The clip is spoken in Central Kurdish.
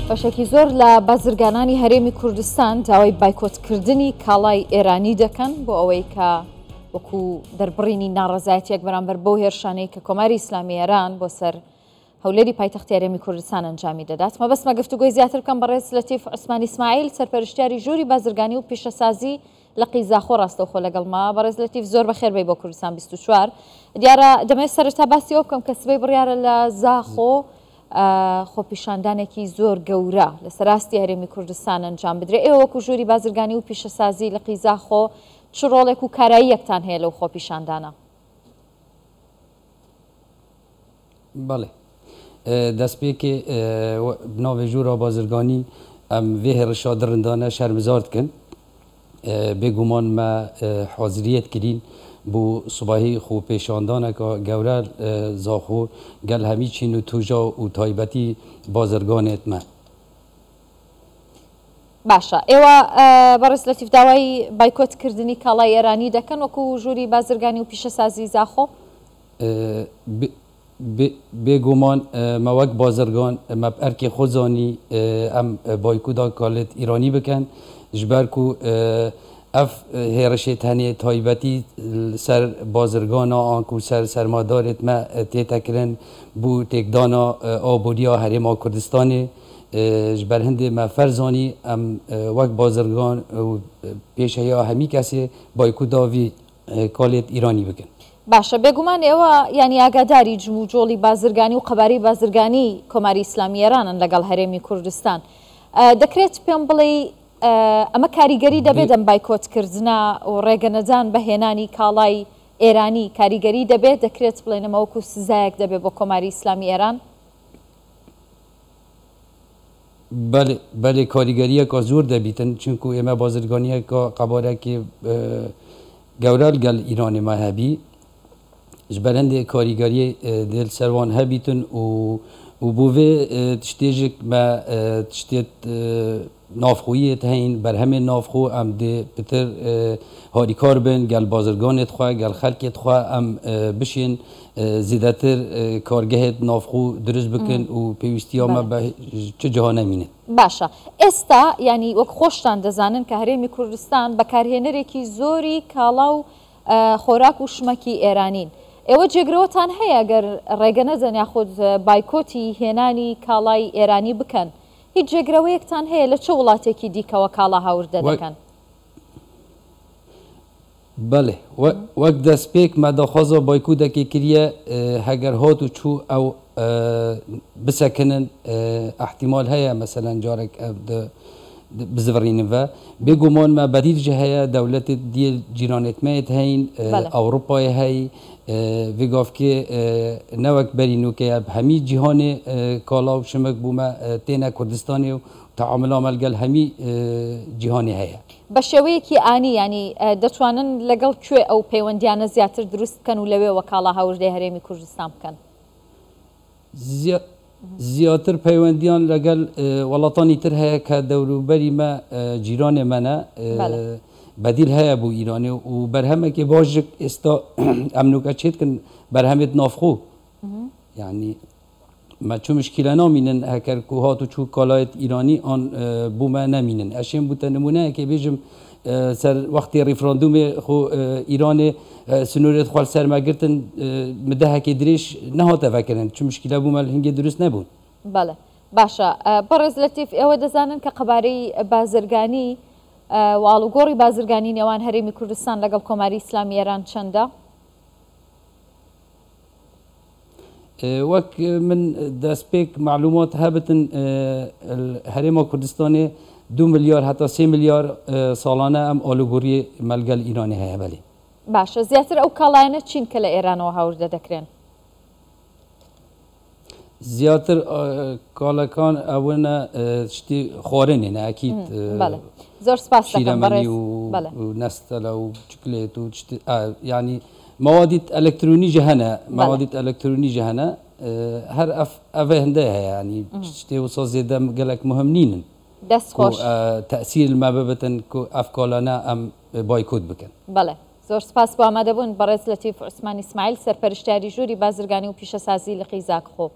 بەشێکی زۆر لە بازرگانانی هەرێمی کوردستان داوای بایکۆتکردنی کاڵای ئێرانی دەکەن بۆ ئەوەی کە وەکو دەربڕینی ناڕەزایەتیەک بەرامبەر بەو هێرشانەی کە کۆماری ئیسلامی ئێران بۆ سەر هەولێری پایتەختی هەرێمی کوردستان ئەنجامی دەدات. مەبەستمە گفتوگۆی زیاتر بکەم بەڕێز لەتیف عوسمان ئیسماعیل سەرپەرشتیاری ژووری بازرگانی و پیشەسازی لقی زاخۆ ڕاستەوخۆ لەگەڵمە. بەڕێز لەتیف زۆر بەخێر بێی بۆ کوردستان 24. دیارە دەمەوێت سەرەتا باسی ئەوە بکەم کە سبەی بڕیارە لە زاخۆ خۆپیشاندانێکی زۆر گەورە لە سەراستی هەرێمی کوردستان ئەنجام بدرێ. ئێوە وەکو ژووری بازرگانی و پیشەسازی لقی زاخۆ چ ڕۆڵێک و کاراییەکتان هەیە لەو خۆپیشاندانە؟ بەڵێ. دەستپێکێ bi navê Jûra Bazirganî em vê hêrişa dirindane şermizar dikin. Bêguman me haziriyet kirîn bo sibahî xwepêşandaneka gewre Zaxo gel hemî çîn û tûja û taybetî bazirganêt me. باشە ئێوە بەڕێز لەتیف داوای بایکۆت کردنی کاڵای ئێرانی دەکەن وەکو ژووری بازرگانی و پیشەسازی زاخۆ؟ بێگومان مە وەک بازرگان مە bi erkê xwe zanî em boykoda kalêt Îranî bikin ji ber ku ev hêrişê tenê taybetî li ser bazirgana an ku ser sermadarêt me tête kirin bû têkdana aboriya Herêma Kurdistanê ji ber hindê me ferz zanî em wek bazirgan û pêşeya hemî kesê boykoda vî کالێت ئیرانی بکەن. باشە بێگومان ئێوە یانی ئاگاداری جموجۆڵی بازرگانی و قەبارەی بازرگانی کۆماری ئیسلامی ئێرانن لەگەڵ هەرێمی کوردستان. دەکرێت پێم بڵێی ئەمە کاریگەری دەبێت ئەم بایکۆتکردنە و ڕێگەنەدان بە هێنانی کاڵای ئێرانی کاریگەری دەبێت؟ دەکرێت بڵێن ئەمە وەکو سزایەک دەبێت بۆ کۆماری ئیسلامی ئێران؟ بەلێ بەلێ کاریگەریەکە زۆر دەبیتن چونکو ئێمە بازرگانیەکە قەبارەکی گەورە لەگەل ئیرانێ ما هەبی ji ber hindê karîgeriyê dê li ser wan hebîtin û û bo vê tiştê jî me tiştê navxweyiyê heyîn berhemên navxwe em dê pitir harîkar bin gel bazirganê xwe gel xelkê xwe em bişên zêdetir kargehê navxwe dirust bikin û pêwîstiya me bi çi ciha nemîne. باشە ئێستا یانی وەک خۆشتان دەزانن کە هەرێمی کوردستان بەکارهێنەرێکی زۆری کاڵا و خۆراک و شمەکی ئێرانین. ئێوە جێگرەوەتان هەیە گەر ڕێگە نەدەن یاخود بایکۆتی هێنانی کاڵای ئێرانی بکەن؟ هیچ جێگرەوەیەکتان هەیە لە چ وڵاتێکی دیکەوە کاڵا هاوردە دەکەن؟ بەڵێ وەک دەستپێک مە داخوازا بایکودەکێ کریە هەگەر هات و چوو ئەو بسەکنن ئەحتیمال هەیە مەسەلەن جارێک بزڤڕینن ڤە بێگومان مە بەدیل ژ هەیە دەولەتێت دیێ جیرانێت مەیەت هەین ئەوروپایێ هەی ڤێ گافکێ نەوەک بەری نوکەیە هەمی جیهانێ کاڵا و شمک بوومە تێنە کوردستانێ و تەعاملا مە لەگەل هەمی جیهانێ هەیە. بە شێوەیەکی ئانی یانی دەتوانن لەگەڵ کوێ ئەو پەیوەندیانە زیاتر دروست بکەن و لەوێوە کاڵا هاوردەی هەرێمی کوردستان بکەن؟ زیاتر پەیوەندیان لەگەل وڵاتانی تر هەیە کە دەوروبەری مە جیرانێ مەنە بەدیل هەیە بۆ ئیرانێ و بەرهەمێکی باشک ئێستا ئەم نوکە چێتکن بەرهەمێت ناوخۆ یعنی مە چ مشکیلە نامینن هەکەر کو هات و چوو کالایت ئیرانی ئان بۆ مە نەمینن ئەشێم بوتە نمونەیەکێ بێژم سەر وەختی ڕیفراندومێ خۆ ئیرانێ سنوورێت خوال سەر مەگرتن مدەهەکی درێژ نەهاتە ڤەکردن چ مشکیلە بوو مە هنگێ دروست نەبوون. بەڵێ باشە بەڕێز لەتیف ئێوە دەزانن کە قەبارەی بازرگانی و ئاڵوگۆڕی بازرگانی نێوان هەرێمی کوردستان لەگەڵ کۆماری ئیسلامی ئێران چەندە؟ وەک من دەستپێک مەعلومات هەبتن هەرێما کوردستانێ 2 ملیار هەتا 3 ملیار ساڵانە ئەم ئالوگۆڕی مەلگەل ئیرانی هەیە. بەلێ. باشە زیاتر ئەو کاڵایانە چین کە لە ئێرانەوە هاوردە دەکرێن؟ زیاتر کاڵەکان ئەوەنە شتی خواردنێنە ئەکید زۆر سپاس دەکەم شیرەمەنی بەڕێز. و بەڵێ. نەستەلە و چکلێت و یعنی مەوادیت ئەلکترۆنی ژ هەنە مەوادیت ئەلکترۆنی ژ هەنە هەر ئەڤ هەندە هەیە یعنی شتێ وسا زێدە گەلەک مهم نینن. دەست خۆش. تەئسیر مە ببتن کو ئەف کالانە ئەم بایکۆت بکەن. بەڵێ زۆر سپاس بۆ ئامادەبوون بەڕێز لەتیف عوسمان ئیسماعیل سەرپەرشتیاری ژووری بازرگانی و پیشەسازی لقی زاخۆ.